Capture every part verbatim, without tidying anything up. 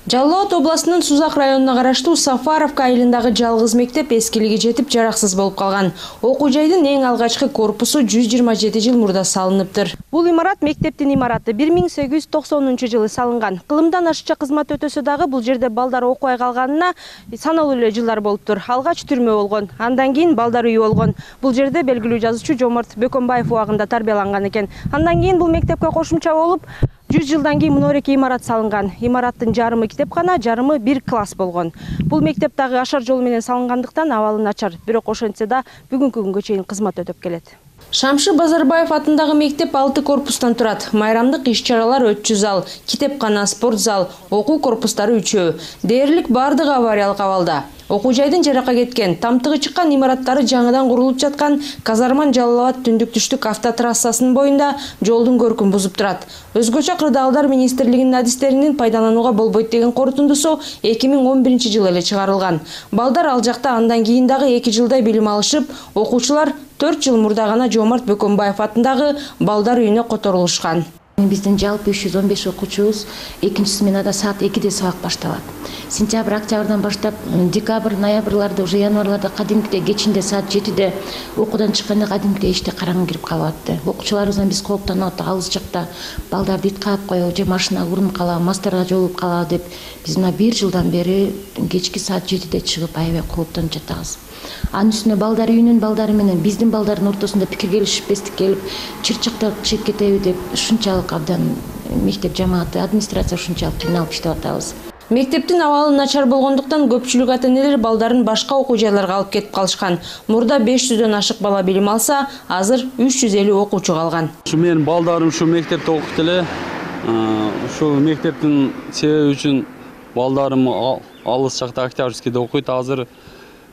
Жалал Абад областынын Сузак районуна караштуу Сафаровка айылындагы жалгыз мектеп эскилиги жетип жараксыз болуп калган. Окуу жайдын эң алгачкы корпусу жүз жыйырма жети жыл мурда салыныптыр. Бул имарат мектептин имараты бир миң сегиз жүз токсонунчу жылы салынган. Кылымдан ашыкча кызмат өтөсө дагы бул жерде балдар окубай калганына саналуу эле жылдар болуптур. Алгач түрмө болгон, андан кийин балдар үйү болгон. Бул жерде белгилүү жазуучу Жоморт Бөкөнбаев убагында тарбияланган экен. Андан кийин бул мектепке кошумча болуп жүз жылдан кийин мынореки имарат салынган. Имараттын жарымы китепкана, жарымы бир класс болгон. Бул мектеп дагы ашар жол менен салынгандыктан абалы начар, бирок ошентсе да бүгүнкү күнгө чейин кызмат өтөп келет. Шамшы Базарбаев атындагы мектеп алты корпустан турат. Майрамдык иш-чаралар өтчү зал, китепкана, спорт зал, окуу корпустары үчөө. Дээрлик бардыгы авариялык абалда. Окуу жайдын жаракка кеткен, тамтыгы чыккан имараттары жаңыдан курулуп жаткан Казарман Жалал Абад түндүк түштүк автотрассасынын боюнда жолдун көркүн бузуп турат. Өзгөчө кырдаалдар министрлигинин адистеринин пайдаланууга болбойт деген корутундусу эки миң он биринчи жылы эле чыгарылган. Балдар ал жакта андан кийин дагы эки жылдай билим алышып, окуучулар төрт жыл мурда гана Жоморт Бөкөнбаев атындагы балдар үйүнө которулушкан. Биздин жалпы үч жүз он беш окуучубуз экинчи сменада саат экиде сабак башталат. Сентябрь, октябрдан баштап декабрь, ноябрларда, уже январларда кадимкидей кечинде саат жетиде окуудан чыкканда кадимкидей эчте караңгы кирип калып. Окуучуларыбыздан биз кооптонуп атат, алыс жакта балдарды ит каап коебу, же машинага урунуп калабы, мастарга жолугуп калабы деп биз мына бир жылдан бери кечки саат жетиде чыгып аябай кооптонуп жатабыз. Анын үстүнө балдар үйүнүн балдары менен биздин балдардын ортосунда пикир келишпестик келип, чырчактап чыгып кетеби деп ушунчалык абдан мектеп жамааты, администрация ушунчалык кыйналып иштеп атабыз. Мектептин абалы начар болгондуктан көпчүлүк ата-энелер балдарын башка окуу жайларга алып кетип калышкан. Мурда беш жүздөн ашык бала билим алса, азыр үч жүз элүү окуучу калган. Ушу менин балдарым ушу мектепте окуйт эле. Ушул мектептин себеби үчүн балдарым алыс жакта Октябрьскийде окуйт. Азыр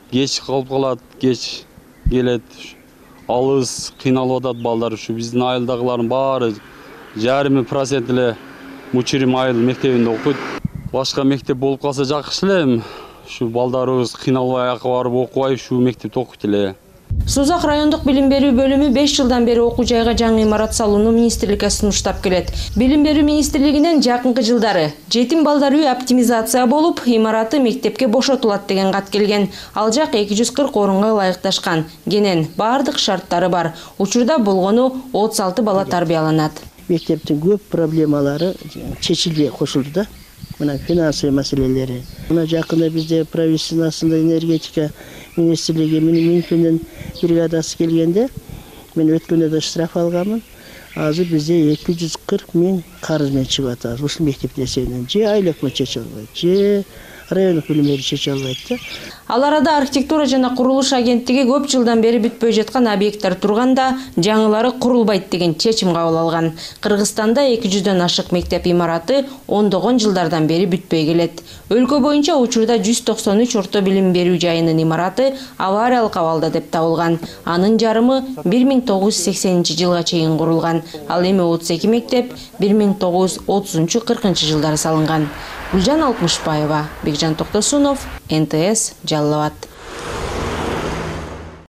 кеч калып калат, кеч келет. Алыс кыйналып атат балдар. Ушу биздин айылдагылардын баары жарым процент эле Мучирим айыл мектебинде окуйт. Башка мектеп болуп калса жакшы эле. Ушу балдарыбыз кыйналбай аяка барып окубай ушу мектепте окуйт эле. Сузак райондук билим берүү бөлүмү беш жылдан бери окуу жайга жаңы имарат салууну министрликке сунуштап келет. Билим берүү министрлигинен жакынкы жылдары жетим балдар үйү оптимизация болуп, имараты мектепке бошотулат деген кат келген. Ал жак эки жүз кырк орунга ылайыкташкан. Кенен бардык шарттары бар. Учурда болгону отуз алты бала тарбияланат. Мектептин көп проблемалары чечилбей кошулду да. Мына финансовый маселелери. Мына жакында бизде правительствосунда энергетика министрлиги Минфиндин бригадасы келгенде мен өткөндө да штраф алганмын. Азыр бизде эки жүз кырк миң карыз менен чыгып атабыз. Ушул мектептин эсебинен же айлыкмы чече албайт, же райондук билим берүү чече албайт да. Ал арада архитектура жана курулуш агенттиги көп жылдан бери бүтпөй жаткан объекттер турганда жаңылары курулбайт деген чечим кабыл алган. Кыргызстанда эки жүздөн ашык мектеп имараты ондогон жылдардан бери бүтпөй келет. Өлкө боюнча учурда жүз токсон үч орто билим берүү жайынын имараты авариялык абалда деп табылган. Анын жарымы бир миң тогуз жүз сексенинчи жылга чейин курулган. Ал эми отуз эки мектеп бир миң тогуз жүз отузунчу кыркынчы жылдары салынган. Гүлжан Алтмышбаева, Бекжан Токтосунов, эн тэ эс, Жалал Абад.